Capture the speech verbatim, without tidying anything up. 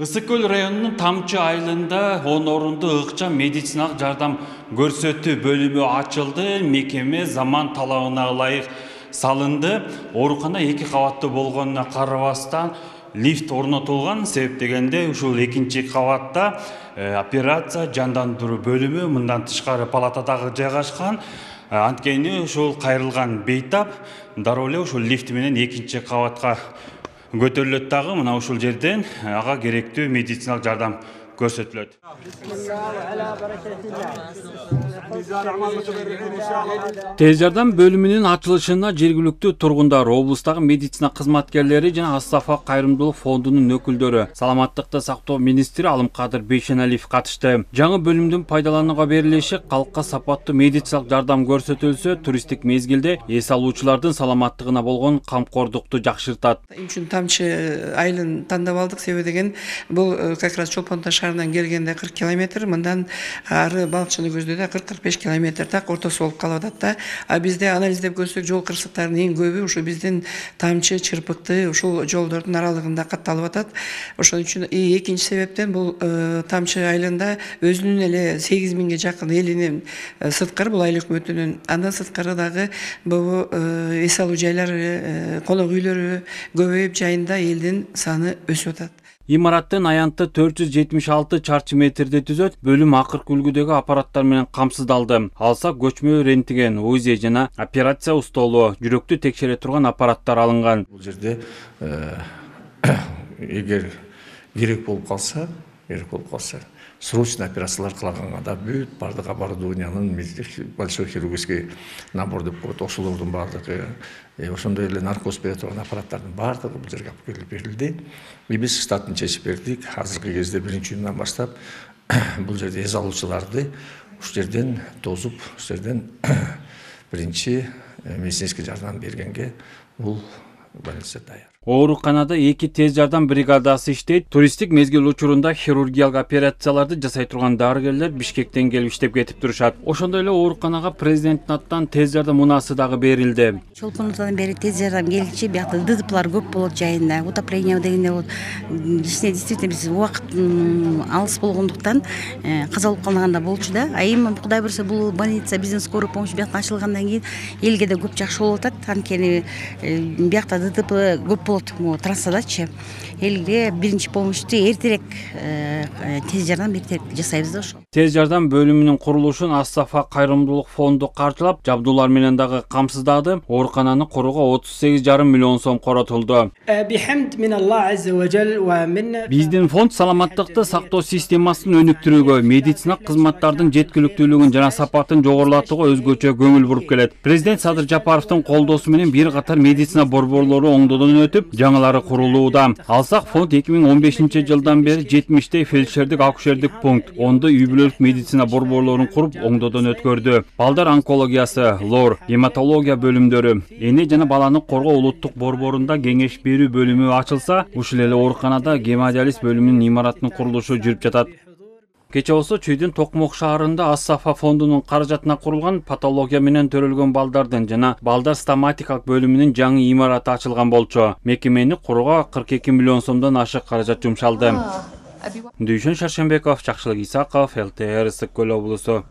Ысык көл районунун Тамчы айылында он орунду ыкчам медициналык жардам көрсөтүү бөлүмү ачылды. Мекеме заман талабына ылайык салынды. Оорукана эки кабаттуу болгонуна карабастан лифт орнотулган. Себеп дегенде ушул экинчи кабатта операция жандандыруу бөлүмү, мындан тышкары палатадагы жайгашкан. Анткени ушул кайрылган бейтап дароо эле ушул лифт менен экинчи кабатка көтөрүлөт дагы. Мына ушул жерден ага керектүү медициналык жардам көрсөтүлөт. Тез жардам бөлүмүнүн ачылышына жергиликтүү тургундар, облустагы медицина кызматкерлери жана Астафа кайрымдуулук фондунун өкүлдөрү, саламаттыкты сактоо министри Алымкадыр Бейшеналиев катышты. Жаңы бөлүмдүн пайдаланууга берилиши калкка сапаттуу медициналык жардам көрсөтүлсө, туристтик мезгилде эс алуучулардын саламаттыгына болгон камкордукту жакшыртат. Үчүн Тамчы айылын тандап алдык. Себеби деген бул как раз Чолпон Таш шаарынан келгенде кырк километр, мындан ары балыкчыны көздөдө кырк кырк беш километр так ортосу болуп калып атат да. А бизде анализдеп көрсөк, жол кырсыктарынын эң көбү ушу биздин Тамчы, Чырпыкты ушул жолдордун аралыгында катталып атат. Ошон үчүн экинчи себептен бул Тамчы айылында өзүнүн эле сегиз миңге жакын элинин сырткары, бул айыл өкмөтүнүн, андан сырткары дагы бул эс алуу жайлары, конок үйлөрү көбөйүп, жайында элдин саны өсүп атат. Имараттын аянты төрт жүз жетимиш алты чарчы метрди түзөт. Бөлүм акыркы үлгүдөгү аппараттар менен камсыздалды. Алсак көчмө рентген, УЗИ жана операция устолу, жүрөктү текшере турган аппараттар алынган. Бул жерде эгер керек болуп калса, керек болуп калса, срочный операциялар кылаганга да бүт бардык оборудованиянын большой хирургический набор деп коет, ошолордун бардыгы, ошондой эле наркоз бере турган аппараттардын бардыгы бул жерге алып келип берилди. Биз штатын чечип бердик. Азыркы кезде биринчи июндан баштап бул жерде эс алуучуларды ушул жерден тосуп, ушул жерден биринчи медицинский жардам бергенге бул больница даяр. Ооруканада эки тез жардам бригадасы иштейт. Туристтик мезгил учурунда хирургиялык операцияларды жасай турган дарыгерлер Бишкектен келип иштеп кетип турушат. Ошондой эле ооруканага президенттин атынан тез жардам унаасы дагы берилди. Чолпонудан бери тез жардам келчи, биякта ДТПлар көп болот жайында, утопление дегенде болот. Ичине действительно биз убакыт алыс болгондуктан каза болуп калганда болчу да. А эми Кудай буйрса бул больница биздин скорый помощь биякта ачылгандан кийин элге да көп жакшы болуп атат. Анткени биякта ДТП көп трассадачы элге биринчи помощьту эртерээк, тез жардам эртерээк жасайбыз да ошо. Тез жардам бөлүмүнүн курулушун Астафа кайрымдуулук фонду каржылап, жабдуулар менен дагы камсыздады. Оорукананы курууга отуз сегиз жарым миллион сом коротулду. Биздин фонд саламаттыкты сактоо системасын өнүктүрүүгө, медициналык кызматтардын жеткиликтүүлүгүн жана сапатын жогорулатууга өзгөчө көңүл буруп келет. Президент Садыр Жапаровдун колдоосу менен бир катар медицина борборлору оңдодон өтүп, жаңылары курулууда. Алсак фонд эки миң он бешинчи жылдан бери жетимиштей фельдшердик акушердик пункт, ондо үй бүлөлүк медицина борборлорун куруп оңдодон өткөрдү. Балдар онкологиясы, лор, гематология бөлүмдөрү, эне жана баланы коргоо улуттук борборунда кеңеш берүү бөлүмү ачылса, ушул эле ооруканада гемодиализ бөлүмүнүн имараттын курулушу жүрүп жатат. Кече болсо Чүйдүн Токмок шаарында Астафа фондунун каражатына курулган патология менен төрөлгөн балдардын жана балдар стоматикалык бөлүмүнүн жаңы имараты ачылган болчу. Мекемени курууга кырк эки миллион сомдон ашык каражат жумшалды. Дүйшөн Шаршембеков, Жакшылык Исаков, эл тэ эр, Ысык көл облусу.